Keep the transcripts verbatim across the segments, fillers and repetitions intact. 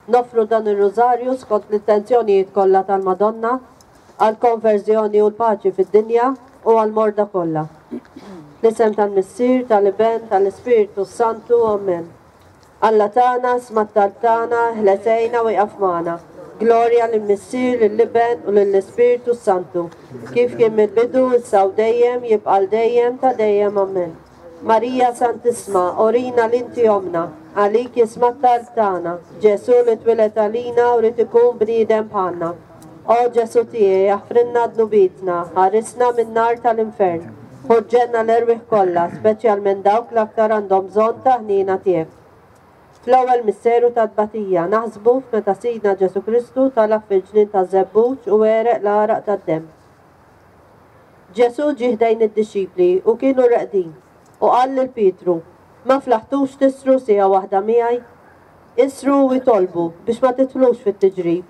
Noffru dan ir-rużarju skont l-intenzjonijiet kollha tal-Madonna għall-konverżjoni u l-paċi fid-dinja u għall-morda kollha. L-isem tal-Missier, tal-Iben, tal-Ispirtu Santu, Amen. Alla tagħna, isma' t-talb tagħna, eħles għinna u ieqaf magħna. Glorja lill-Missier, lill-Iben u lill-Ispirtu Santu. Kif kien mill-bidu, issa u dejjem, jibqa' għal dejjem ta' dejjem. Amen. Marija Santissma, urina li inti ommna, għalik jisma' t-talb tagħna. Ġesu li twieled għalina u ried ikun bniedem bħalna. O Ġesu tiegħi, aħfrilna dnubietna, ħarisna min-nar tal-infern. Ħu l-ġenna l-erwieħ kollha, speċjalment dawk l-aktar għandhom bżonn ta' ħniena tiegħek. Fl-ewwel misteru ta' tbatija naħsbu f'meta Sidna Ġesu Kristu talab fil-ġnien ta' Żebbuġ u għereq l-għaraq tad-demm. Ġesu ġie ħdejn id-dixxipli u kienu reqdin u qal lil Pietru, ma flaħtux tisħru siegħa waħda miegħi? Isħru u itolbu biex ma tidħlux fit-tiġrib.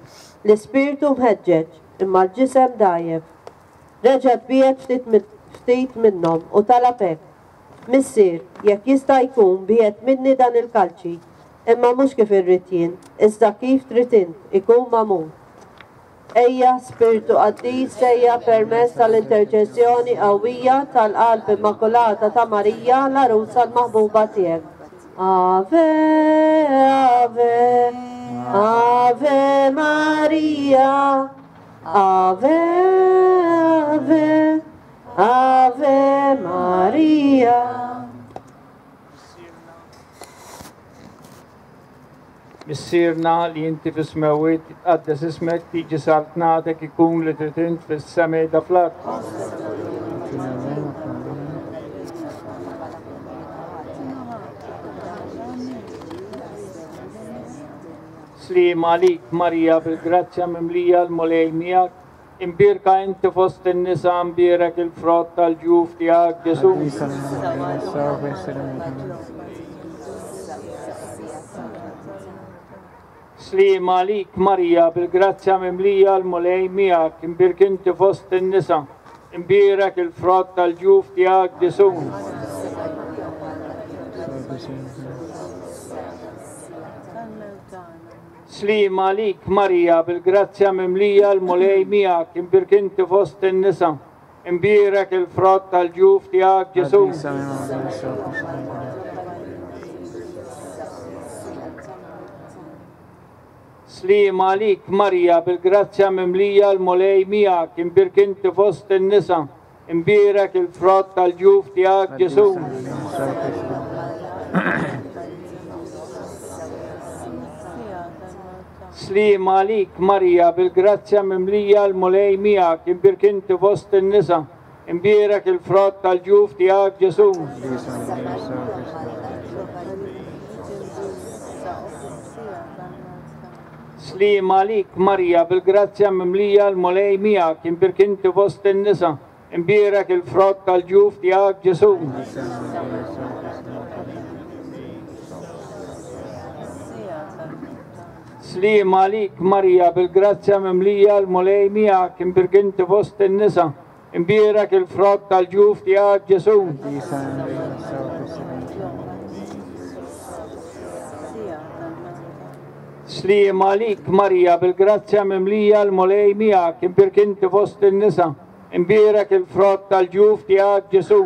L-ispirtu mħeġġeġ, imma l-ġisem dgħajjef. Reġa' tbiegħed ftit ftit minnhom u talab hekk. Missier, jekk jista' jkun biegħed minni dan il-kalċi, imma mhux kif irrid jien, iżda kif trid int, ikun magħmul. Ejja, Spirtu Qaddis, ejja permezz tal-interċessjoni qawwija tal-Qalb Immakulata ta' Marija, l-għarusa l-maħbuba tiegħek. Ave, Ave, Ave Maria, Ave, Ave, Ave Maria. Missierna li inti fis-smewwiet, titqaddes ismek, tiġi saltnatek, ikun li trid int fis-sema da fl-art. Sliem għalik Marija, bil-grazzja mimlija l-Mulej miegħek, imbierka inti fost in-nisa, mbierek il-frott tal-ġuf tiegħek Ġesu. Sliem għalik Marija, bil-grazzja mimlija l-Mulej miegħek, imbierk inti fost in-nisa, imbierek il-frott tal-ġuf tiegħek Ġesu. Sliem għalik Marija, bil-grazzja mimlija l-Mulej miegħek, imbierk inti fost in-nisa, imbierek il-frott tal-ġuf tiegħek Ġesu. Sliem għalik Marija, bil-grazzja mimlija l-Mulej miegħek, imbierk inti fost in-nisa, imbierek il-frott tal-ġuf tiegħek Ġesu. Sliem għalik Marija, bil-grazzja mimlija l-Mulej miegħek, imbierk inti fost in-nisa, imbierek il-frott tal-ġuf tiegħek Ġesu. Sliem għalik Marija, bil-grazzja mimlija l-Mulej miegħek, imbierk inti fost in-nisa, imbierek il-frott tal-ġuf tiegħek Ġesu. Sliem għalik Marija, bil-grazzja mimlija l-Mulej miegħek, imbierk inti fost in-nisa, imbierek il-frott tal-ġuf tiegħek Ġesu. Sliem għalik Marija, bil-grazzja mimlija l-Mulej miegħek, imbierk inti fost in-nisa, imbierek il-frott tal-ġuf tiegħek Ġesu.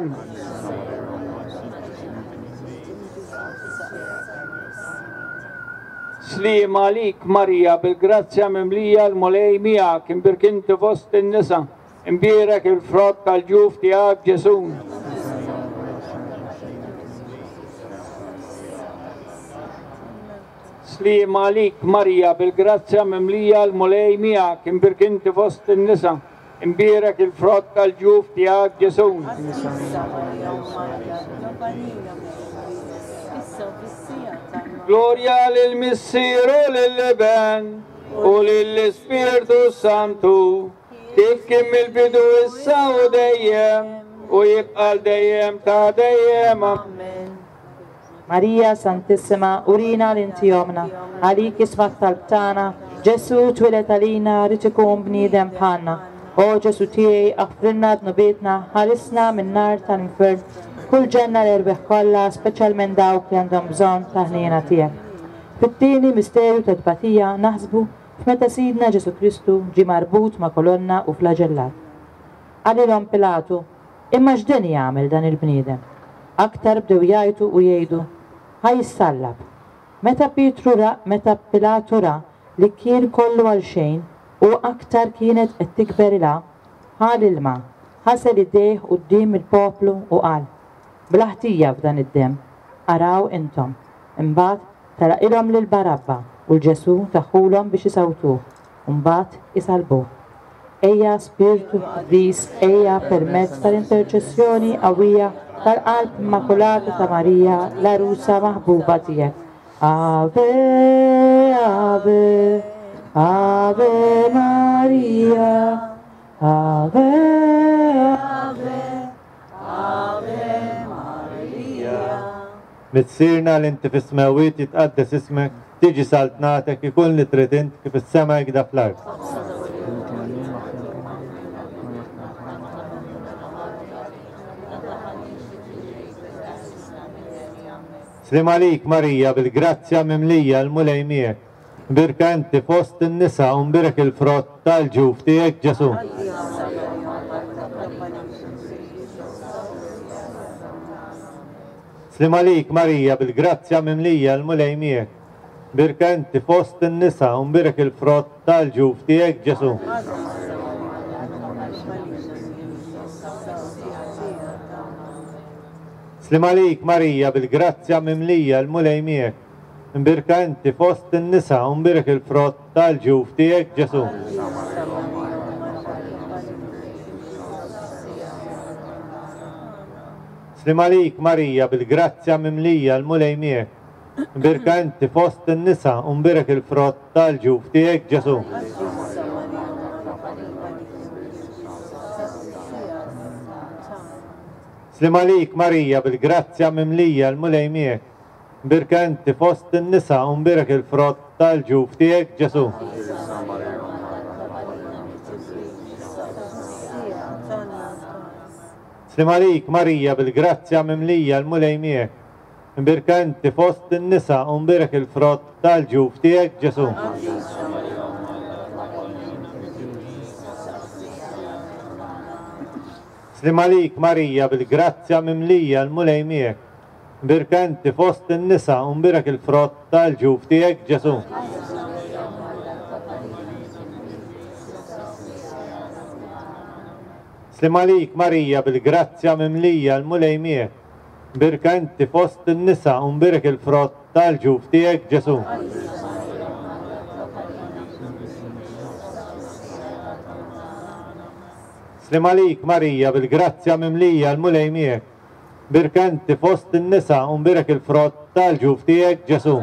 Sliem għalik Marija, bil-grazzja mimlija l-Mulej miegħek, imbierk inti fost in-nisa, imbierek il-frott tal-ġuf tiegħek Ġesu. Sliem għalik Marija, bil-grazzja mimlija l-Mulej miegħek, imbierk inti fost in-nisa, imbierek il-frott tal-ġuf tiegħek Ġesu. Glorja lill-Missier u lill-Iben u lill-Ispirtu Santu, kif kien mill-bidu issa u dejjem u jibqa' dejjem ta' dejjem. Amen. Marija Santissima, urina li inti ommna, għalik isma' t-talb tagħna, Ġesu twieled għalina rid ikun bniedem bħalna. O Ġesu tiegħi, aħfrilna dnubietna, ħarisna min-nar tal-infern, kull ġenna l-erwieħ kollha, speċjalment dawk li għandhom bżonn ta' ħniena tiegħek. Fit-tieni misteru ta' tbatija naħsbu f'meta Sidna Ġesù Kristu ġie marbut ma' kolonna u flagellat. Qalilhom Pilatu, imma x'deni jagħmel dan il-bniedem? Aktar bdew jgħajtu u jgħidu, ħa jissallab. Meta Pietru ra, meta Pilatu ra li kien kollu għal xejn u aktar kienet qed tikber ilha, ħa l-ilma, ħasel idejh quddiem il-poplu u qal, bla ħtija f'dan id-demm, araw intom. Imbagħad telaqilhom lil Barabba u l-Ġesù taħulhom biex isawtuh, u mbagħad isalbuh. Ejja Spirtu Qaddis, ejja permezz tal-interċessjoni qawwija tal-Qalb Immakulata ta' Marija, l-għarusa maħbuba tiegħek. Ave, Ave, Ave Maria, Ave, Ave, Ave Maria. Missierna li inti fis-smewwiet jitqaddes ismek, tiġi saltnatek, ikun li trid int kif is-sema hekk fl-art. Slim għalik Marija, bil-grazzja mimlija l-Mulej miegħek. Mbierka inti fost in-nisa u mbierek il-frott tal-ġuf tiegħek Ġesù. Slim għalik Marija, bil-grazzja mimlija l-Mulej miegħek. Mbierka inti fost in-nisa u mbierek il-frott tal-ġuf tiegħek Ġesù. Slim għalik Marija, bil-grazzja mimlija l-Mulej miegħek. Mbierka inti fost in-nisa u mbierek il-frott tal-ġuf tiegħek Ġesù. Slim għalik Marija, bil-grazzja mimlija l-Mulej miegħek. Mbierka inti fost in-nisa u mbierek il-frott tal-ġuf tiegħek Ġesù. Slim għalik Marija, bil-grazzja mimlija l-Mulej miegħek. Mbierka inti fost in-nisa u mbierek il-frott tal-ġuf tiegħek Ġesù. Slim għalik Marija, bil-grazzja mimlija l-Mulej miegħek. Mbierka inti fost in-nisa u mbierek il-frott tal-ġuf tiegħek Ġesù. Slim għalik Marija, bil-grazzja mimlija l-Mulej miegħek. Mbierka inti fost in-nisa u mbierek il-frott tal-ġuf tiegħek Ġesù. Slim għalik Marija, bil-grazzja mimlija l-Mulej miegħek. Mbierka inti fost in-nisa u mbierek il-frott tal-ġuf tiegħek Ġesù. Slim għalik Marija, bil-grazzja mimlija l-Mulej miegħek. Mbierka inti fost in-nisa u mbierek il-frott tal-ġuf tiegħek Ġesù.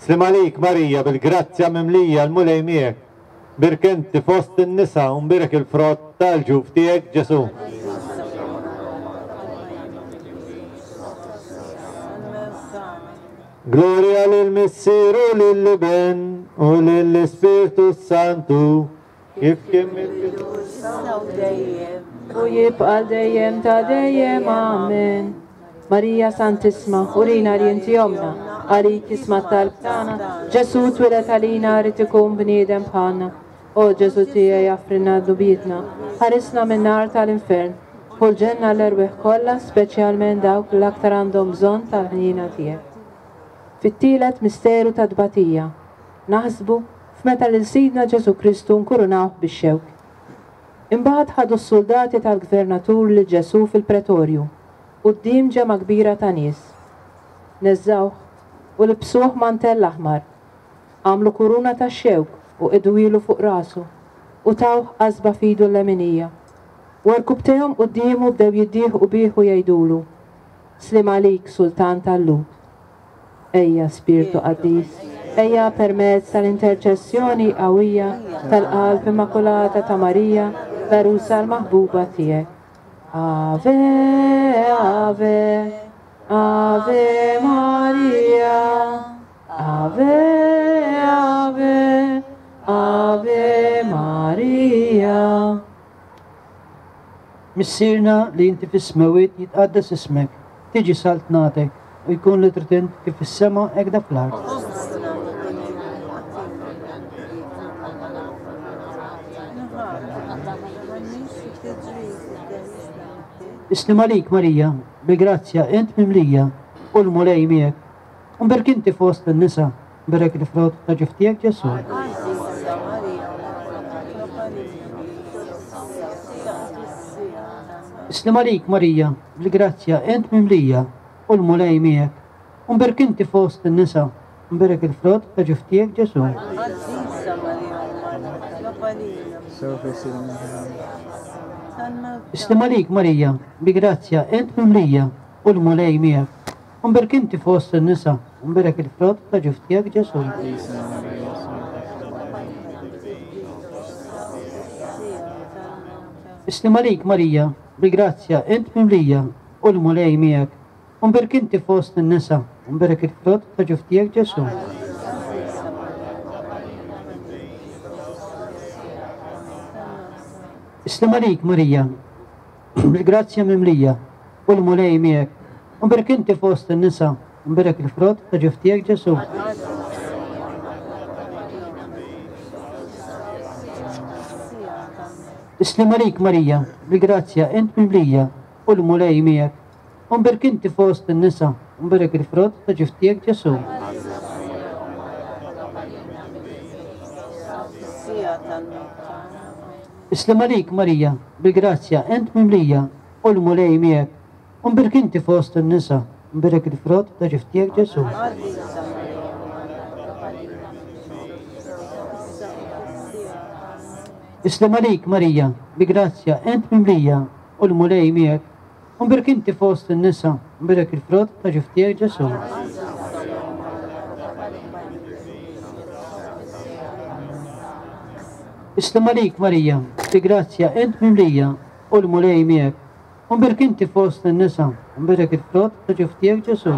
Slim għalik Marija, bil-grazzja mimlija l-Mulej miegħek. Mbierka inti fost in-nisa u mbierek il-frott tal-ġuf tiegħek Ġesù. Gloria lil Missier u lill-Iben u lill-Ispirtu Santu, kif kien mill-bidu issa u dejjem u jibqa' dejjem ta' dejjem. Amen. Marija Santissima, urina li inti omna, għalik isma' t-talb tagħna. Ġesù twieled għalina rid ikun bniedem bħalna. O Ġesù tiegħi, offrilna dnubietna, ħarisna min-nar tal-infern, u l-ġenna l-erwieħ kollha, speċjalment dawk l-aktar għandhom bżonn tal-ħniena tiegħek. Fit-tielet misteru ta' tbatija, naħsbu f'meta lil Sidna Ġesù Kristu nkurunawh bix-xewk. Imbagħad ħadu s-soldati tal-gvernatur lil Ġesù fil-pretorju, quddiem ġemgħa kbira ta' nies. Neżżawh u libsuh mantell aħmar, għamlu kuruna ta' xewk u qegħduhielu fuq rasu u tawh qasba f'idu l-leminija. U rkubtejhom quddiemu bdew jiddieħqu bih u jgħidulu, Slim għalik, Sultan tal-Lhud. Ejja, Spirtu Qaddis, ejja permezz tal-interċessjoni qawwija tal-Qalb Immakulata ta' Marija, l-għarusa l-maħbuba tiegħek. Ave, Ave, Ave Maria, Ave, Ave, Ave Maria. Missierna li inti fis-smewwiet jitqaddes ismek, tiġi saltnatek u jkun li trid int kif fis-sema hekk fl-art. Isliem għalik Marija, bil-grazzja int mimlija u l-Mulej miegħek. U mberk inti fost in-nisa, mberek il-frott ta' ġuf tiegħek Ġesù. Isliem għalik Marija, bil-grazzja int mimlija u l-Mulej miegħek. U mberk inti fost in-nisa, mberek il-frott ta' ġuf tiegħek Ġesù. Isliem għalik Marija, bi grazzja int mimlija u l-Mulej miegħek. U mberk inti fost in-nisa, mberek il-frott ta' ġuf tiegħek Ġesù. Isliem għalik Marija, bil-grazzja int mimlija u l-Mulej miegħek. U mberk inti fost in-nisa, mberek il-frott ta' ġuf tiegħek Ġesù. Isliem għalik Marija, bil-grazzja mimlija u l-Mulej miegħek. U mberk inti fost in-nisa, mberek il-frott ta' ġuf tiegħek Ġesù. Isliem għalik Marija, bil-grazzja int mimlija u l-Mulej miegħek. U mberk inti fost in-nisa, mberek il-frott ta' ġuf tiegħek Ġesù. Isliem għalik Marija, bil-grazzja int mimlija u l-Mulej miegħek. U mberk inti fost in-nisa, mberek il-frott ta' ġuf tiegħek Ġesù. Isliem għalik Marija, bi grazzja int mimlija u l-Mulej miegħek. U mberk inti fost in-nisa, mberek il-frott ta' ġuf tiegħek Ġesù. Isliem għalik Marija, bi grazzja int mimlija u l-Mulej miegħek. U mberk inti fost in-nisa, mberek il-frott ta' ġuf tiegħek Ġesù.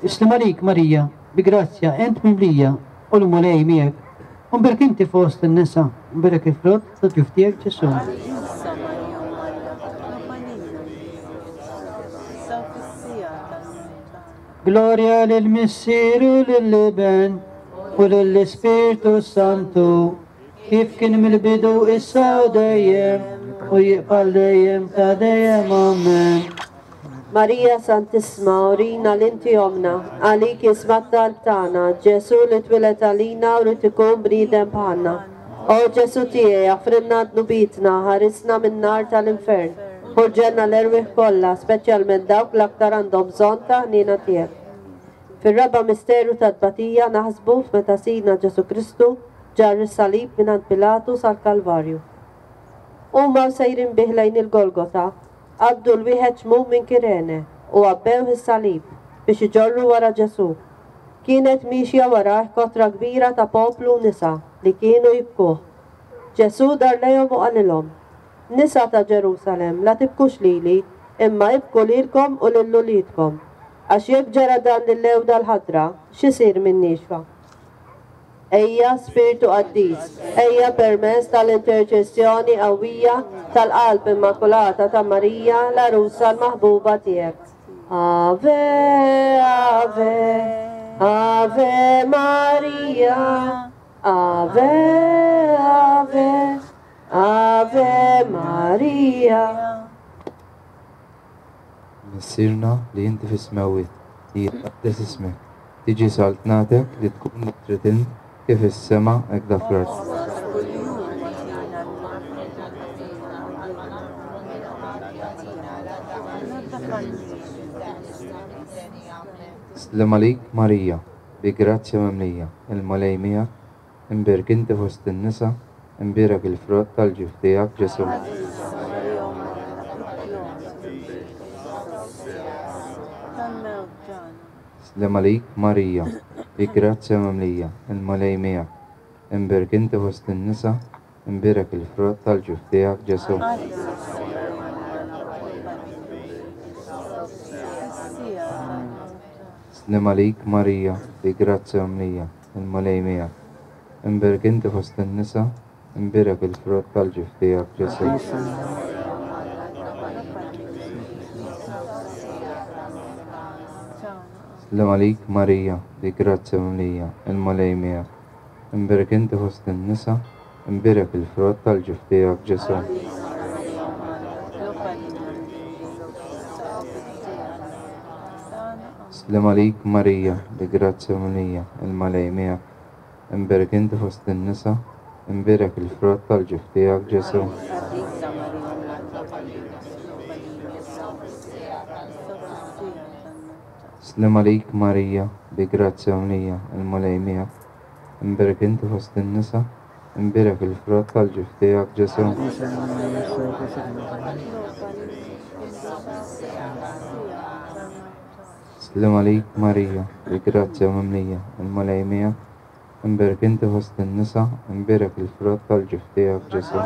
Isliem għalik Marija, bi grazzja int mimlija u l-Mulej miegħek. U mberk inti fost in-nisa, mberek il-frott ta' ġuf tiegħek Ġesù. Glorja lill-Missier u lill-Iben u lill-Ispirtu Santu, kif kien mill-bidu issa u dejjem u jibqa' dejjem ta' dejjem. Amen. Marija Santissima, urina l-inti omna, għalik jisma' t-talb tagħna, Ġesù li twieled għalina u rid ikun bniedem bħalna. O Ġesù tiegħi, aħfrilna dnubietna, ħarisna min-nar tal-infern, ħurġelna l-erwieħ kollha, speċjalment dawk l-aktar għandhom bżonn ta' ħniena tiegħek. Fir-raba' misteru tat-tbatija naħsbu f'meta Sidna Ġesù Kristu ġarr is-salib mingħand Pilatu sal-Kalvarju. Huma sejrin bih lejn il-Golgota, qabdu l-wieħed xmum minn Kirene u għabbewh is-salib biex iġorru wara Ġesù. Kienet mixja warah kotra kbira ta' poplu u nisa li kienu jibkuh. Ġesù dar lejhom u qalilhom: Nisa ta' Ġerusalem, la tibkux lili, imma ibku lilkom u lil uliedkom. Għax jekk ġara dan lil-lewda l-ħadra, x'isir minn niexfa? Ejja Spiritu Qaddis, ejja permezz tal-interċessjoni qawwija tal-Qalb Immakulata ta' Marija, l-għarusa l-maħbuba tiegħek. Ave, Ave, Ave Maria, Ave, Ave, Ave Maria. Missierna li inti fis-smewwiet, li jitqaddes ismek, tiġi saltnatek li tkun li trid int kif is-sema hekk fl-art. Sliem għalik Marija, bi grazzja mimlija, il-Mulej miegħek, imbierek inti fost in-nisa, imbierek il-frott tal-ġuf tiegħek Ġesù. Sliem għalik Marija, bi grazzja mimlija, il-Mulej miegħek, imbierek inti fost in-nisa, imbierek il-frott tal-ġuf tiegħek Ġesù. Sliem għalik Marija, bi grazzja mimlija, il-Mulej miegħek, Imbierek inti fost in-nisa, imbierek il-frott tal-ġuf tiegħek Ġesù. Sliem għalik Marija, bi grazzja mimlija, il-Mulej miegħek. Imbierek inti fost in-nisa, imbierek il-frott tal-ġuf tiegħek Ġesù. Sliem għalik Marija, bi grazzja mimlija, il-Mulej miegħek. Imbierek inti fost in-nisa, imbierek il-frott tal-ġuf tiegħek Ġesù. Sliem għalik Marija, bi grazzja mimlija, il-Mulej miegħek. Imbierek inti fost in-nisa, imbierek il-frott tal-ġuf tiegħek Ġesù. Sliem għalik Marija, bi grazzja mimlija, il-Mulej miegħek. Imbierek inti fost in-nisa, imbierek il-frott tal-ġuf tiegħek Ġesù.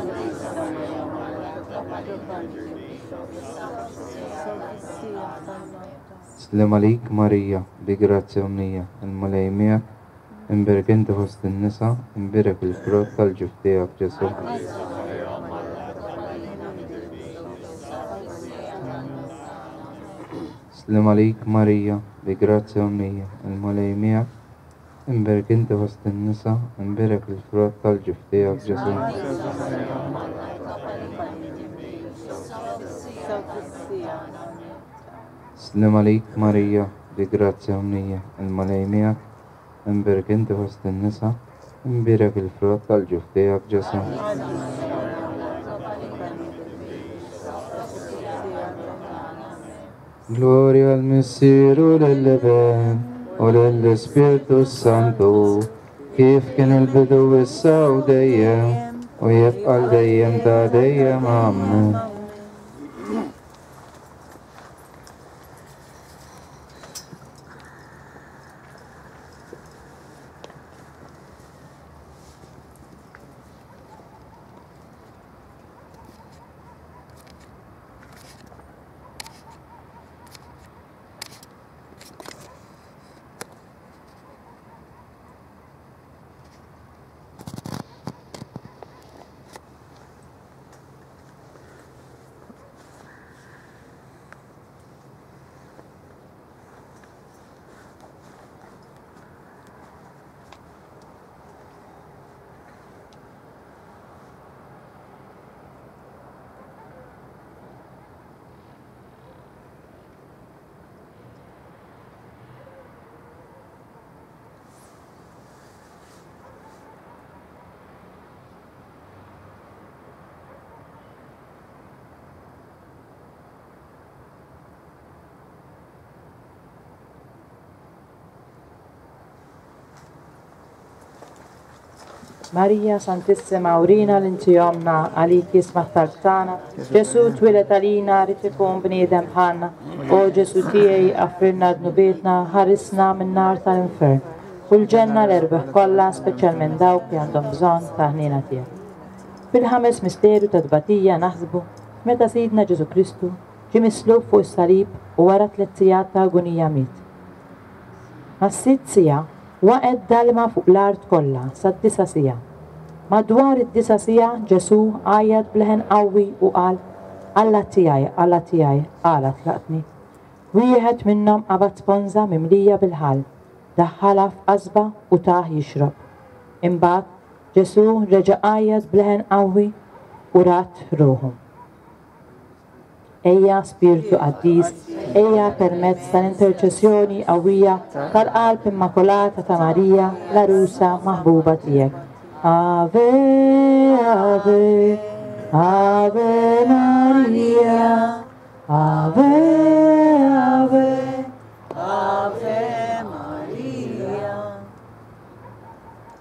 Sliem għalik Marija, bi grazzja mimlija, il-Mulej miegħek. Imbierek inti fost in-nisa, imbierek il-frott tal-ġuf tiegħek Ġesù. Sliem għalik Marija, bi grazzja mimlija, il-Mulej miegħek. Imbierek inti fost in-nisa, imbierek il-frott tal-ġuf tiegħek Ġesù. Sliem għalik Marija, bi grazzja mimlija, il-Mulej miegħek. Imbierek inti fost in-nisa, imbierek il-frott tal-ġuf tiegħek Ġesù. Gloria al Missier u lill-Iben u lill-Ispirtu Santu, kif kien il-bidu issa u dejjem u jibqa' l dejjem ta' dejjem. Amen. Marija Santissima, urina l-inti omna, għalik jisma' t-talb tagħna. Ġesù twieled għalina, rid ikun bniedem bħalna. O Ġesù tiegħi, għafrilna dnubietna, ħarisna min-nar tal-infern. U l-ġenna l-erbaħ kollha, speċjalment dawk li għandhom bżonn ta' ħniena tiegħek. Fil-ħames misteru ta' tbatija naħsbu meta Sidna Ġesù Kristu ġie mislub fuq is-salib u wara tliet sigħat ta' agonija miet. Mas-sitt siegħa waqgħet dalma fuq l-art kollha sad-disa' siegħa. Madwar id-disa' siegħa Ġesù għajjat b'leħen qawwi u qal: Alla tiegħi, Alla tiegħi, għala tlaqtni? Wieħed minnhom qabad sponża mimlija bil-ħall, daħħalha f'qasba u tah jixrob. Imbagħad Ġesù reġa' għajjat b'leħen qawwi u rat ruħu. Ejja Spirtu Qaddis, ejja permezz tal-interċessjoni qawwija tal-Qalb Immakulata ta' Marija, l-għarusa maħbuba tiegħek. Ave, Ave, Ave Maria, Ave, Ave, Ave Maria.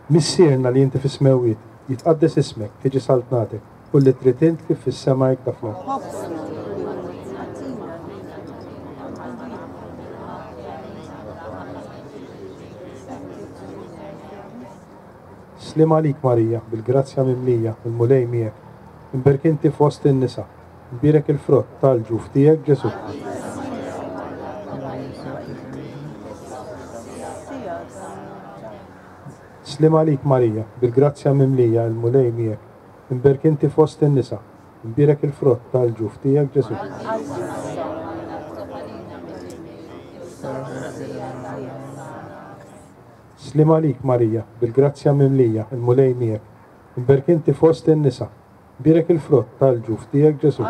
Missierna li inti fis-smewwiet, jitqaddes ismek, tiġi saltnatek, u li trid int kif fis-sema hekk fl-art. Sliem għalik Marija, bil-grazzja mimlija, il-Mulej miegħek. Imbierek inti fost in-nisa, imbierek il-frott tal-ġuf tiegħek Ġesù. Sliem għalik Marija, bil-grazzja mimlija, il-Mulej miegħek. Imbierka inti fost in-nisa, imbierek il-frott tal-ġuf tiegħek Ġesù. Sliem għalik Marija, bil-grazzja mimlija, il-Mulej miegħek. Imbierka inti fost in-nisa, imbierek il-frott tal-ġuf tiegħek Ġesù.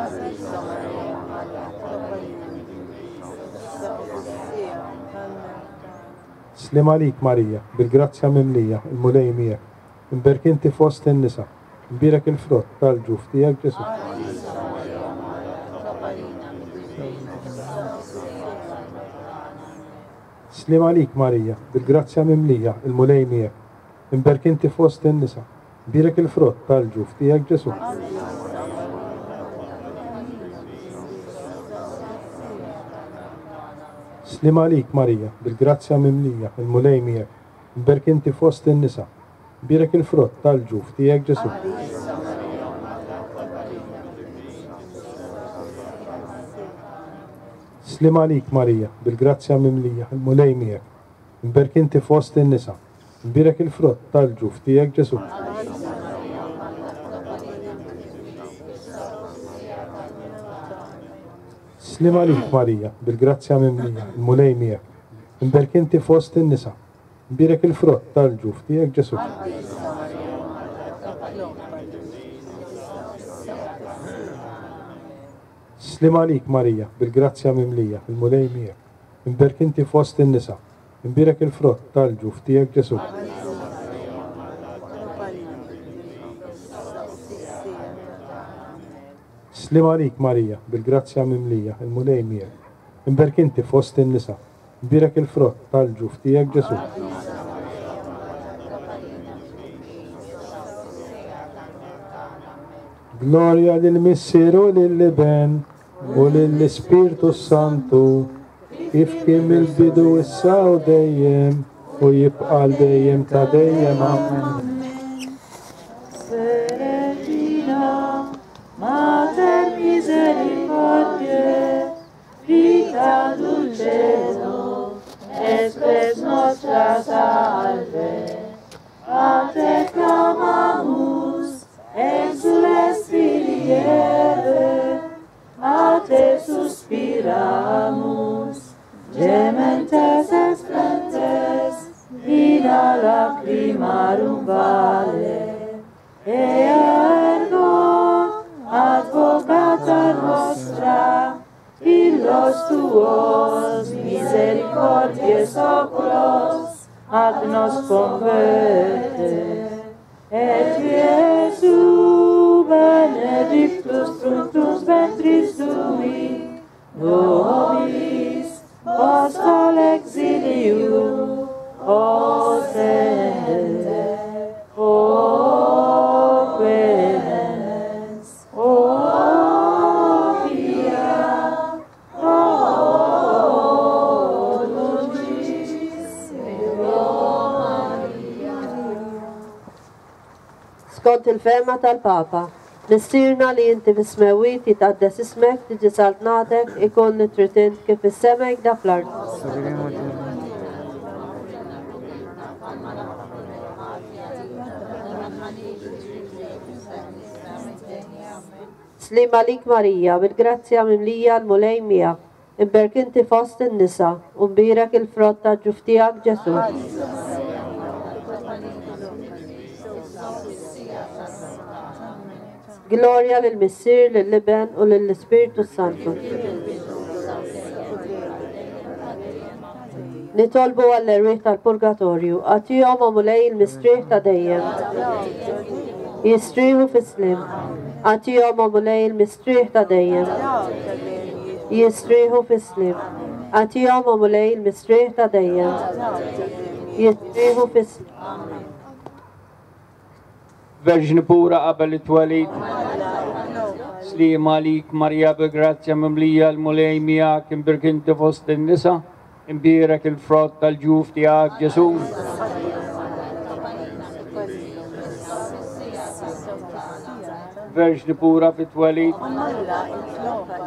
Sliem għalik Marija, bil-grazzja mimlija, il-Mulej miegħek. Imbierka inti fost in-nisa, imbierek il-frott tal-ġuf tiegħek Ġesù. Sliem għalik Marija, bil-grazzja mimlija, il-Mulej miegħek. Imbierka inti fost in-nisa, imbierek il-frott tal-ġuf tiegħek Ġesù. Sliem għalik Marija, bil-grazzja mimlija, il-Mulej miegħek. Imbierka inti fost in-nisa, imbierek il-frott tal-ġuf tiegħek Ġesù. Sliem għalik Marija, bil-grazzja mimlija, il-Mulej miegħek. Imbierka inti fost in-nisa, imbierek il-frott tal-ġuf tiegħek Ġesù. Sliem għalik Marija, bil-grazzja mimlija, il-Mulej miegħek. Imbierka inti fost in-nisa, imbierek il-frott tal-ġuf tiegħek Ġesù. Sliem għalik Marija, bil-grazzja mimlija, il-Mulej miegħek. Imbierka inti fost in-nisa, imbierek il-frott tal-ġuf tiegħek Ġesù. Sliem għalik Marija, bil-grazzja mimlija, il-Mulej miegħek. Imbierka inti fost in-nisa, imbierek il-frott tal-ġuf tiegħek Ġesù. Gloria lill-Missier u lill-Iben u lill-Ispirtu Santu, kif kien mill-bidu issa u dejjem u jibqa' għal dejjem ta' dejjem. Amen. Regina, Mater misericordiae, vita dulcedo, et spes nostra salve. A te clamamus, exules filii Eve, a te suspiramus, gementes explentes, in lacrimarum vale. Ea ergo, advocata nostra, illos tuos misericordies oculos ad nos converte. Et Iesu benedictus fructus ventris tui, nobis post al exilium ostende. O clemens, o pia, o dulcis Maria. Skont il-fehma tal-Papa, Missierna li inti fis-smewwiet jitqaddes ismek, tiġi saltnatek, ikun li trid int kif fis-sema hekk fl-art. Sliem għalik Marija, bil-grazzja mimlija l-Mulej miegħek. Imbierka inti fost in-nisa u mbierek il-frott ta' ġuf tiegħek Ġesù. Gloria lill-Missier, lill-Iben u lill-Ispirtu Santu. Nitolbu għall-erwieħ tal-Purgatorju, agħtihom o Mulej il-mistrieħ ta' dejjem. Jistrieħu fis-sliem. Agħtihom o Mulej il-mistrieħ ta' dejjem. Jistrieħu fis-sliem. Agħtihom o Mulej il-mistrieħ ta' dejjem. Jistrieħu fis-sliem. Verġni pura qabel it-twelid. Sliem għalik Marija bil-grazzja mimlija l-Mulej miegħek, imbierka inti fost in-nisa, imbierek il-frott tal-ġuf tiegħek Ġesù. Verġni pura fit-twelid.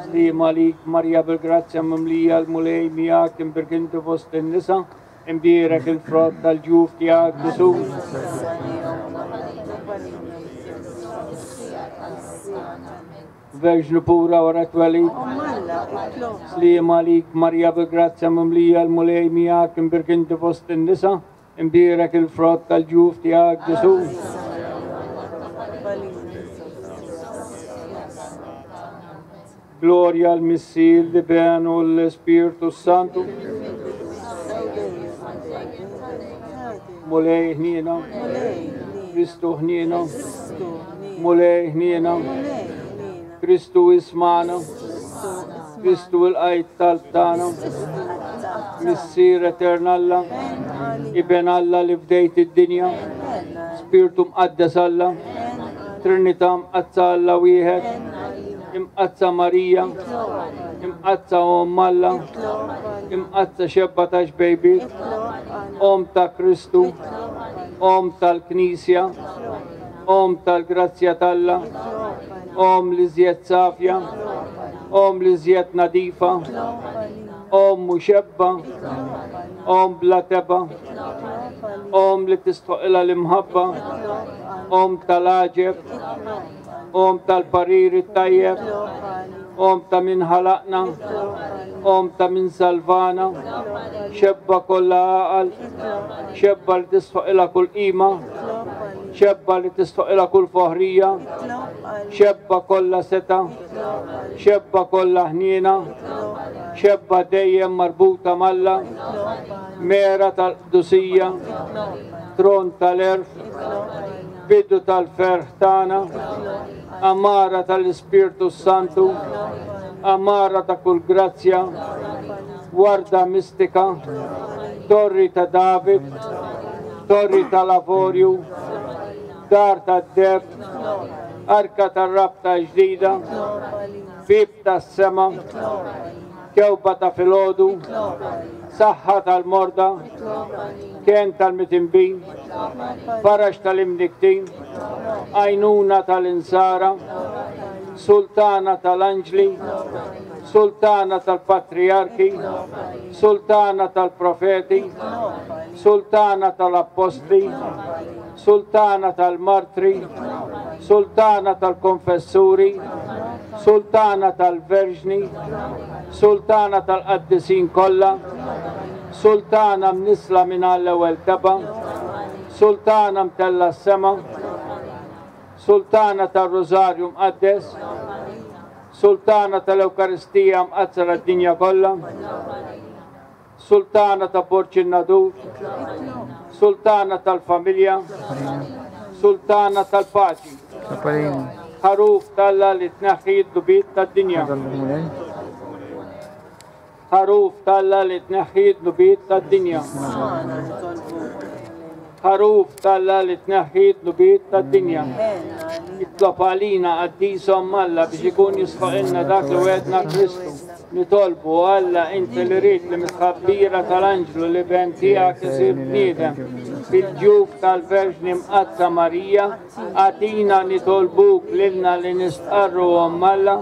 Sliem għalik Marija bil-grazzja mimlija l-Mulej miegħek, imbierka inti fost in-nisa, imbierek il-frott tal-ġuf tiegħek Ġesù. Verġnu pura wara twelid. Sliem għalik Marija bil-grazzja mimlija, l-Mulej miegħek, imbierek inti fost in-nisa, imbierek il-frott tal-ġuf tiegħek Ġesù. Gloria al Missier, l-Iben u l-Ispirtu Santu. Mulej ħniena, Kristu ħniena, Mulej ħniena, Kristu ismana, Kristu il-qajt tal-tana, Missier Etern Alla, Iben Alla li fdejt id-dinja, Spirtu Mqaddes Alla, Trinità Mqaddsa Alla wieħed, Imqaddsa Marija, Imqaddsa Omm Alla, Imqaddsa xebba ta' xbejbiet, Omm ta' Kristu, Omm tal-Knisja, Omm tal-Grazzja t'Alla, Omm li żjed safja, Omm li żjed nadifa, Omm muxebba, Omm bla teba, Omm li tistħoqilha l-imħabba, Omm tal-għaġeb, Omm tal-parir it-tajjeb, Omm ta' min ħalaqna, Omm ta' min salvana, xebba kollha għaqal, xebba li tistħoqilha kull qima, xebba li tistħoqilha kull foħrija, xebba kollha seta, xebba kollha ħniena, xebba dejjem marbuta m'Alla, mera tal-qdusija, tron tal-erf, bidu tal-ferħ tagħna, amara tal-Ispirtu Santu, amara ta' kull grazzja, warda mistika, torri ta' David, torri tal-avorju, dar tad-deb, arka tar-rabta ġdida, bib tas-sema, kewba ta' filgħodu, saħħa tal-morda, ken tal-mitinbin, faraġ tal-imniktin, għajnuna tal-insara, sultana tal-anġli, sultana tal-patriarki, sultana tal-profeti, sultana tal-appostli, sultana tal-martri, sultana tal-konfessuri, sultana tal-verġni, sultana tal-qaddisin kollha, sultana mnisla minn għall-ewwel teba, sultana mtella s-sema, sultana tar-Rożarju mqaddes, sultana tal-Ewkaristija mqaddsa tad-dinja kollha, sultana ta' Borġ in-Nadur, sultana tal-familja, sultana tal-paċi, ħaruf t'Alla li tneħħi d-dnubiet tad-dinja. Ħaruf t'Alla li tneħħi d-dnubiet tad-dinja. Ħaruf t'Alla li tneħħi d-dnubiet tad-dinja. Itlob għalina qaddis Omm Alla biex ikun jisħoqilna dak li wegħedna Kristu. Nitolbu Alla inti li rrid li mitħabbira tal-anġlu li ben tiegħek isir bniedem fil-ġuf tal-Verġni Mqaddsa Marija, għatina nitolbuk lilna li nistqarru Omm Alla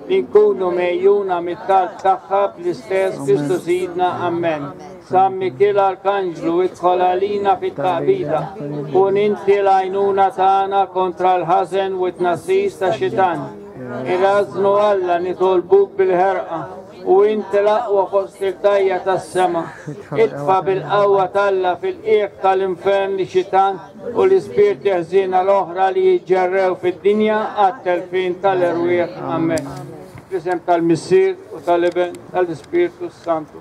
li nkunu mejjuna mit-talb tagħha bl-istess Kristu Sidna. Amen. San Mikiel Arkanġlu idħol għalina fit-taqbida, kun inti l-għajnuna tagħna kontra l-ħażen u t-tnassis ta' xitan. Irażnu Alla nitolbuk bil-ħerqa u inti l-aqwa fost il-tajja tas-sema. Itfa' bil-qawwa t'Alla fil-qiegħ tal-infern li xitan u l-ispirti ħżiena l-oħra li jiġġerrew fid-dinja għat-telfin tal-erwieħ. Amen. Fl-isem tal-Missier u tal-Iben tal-Ispirtu Santu.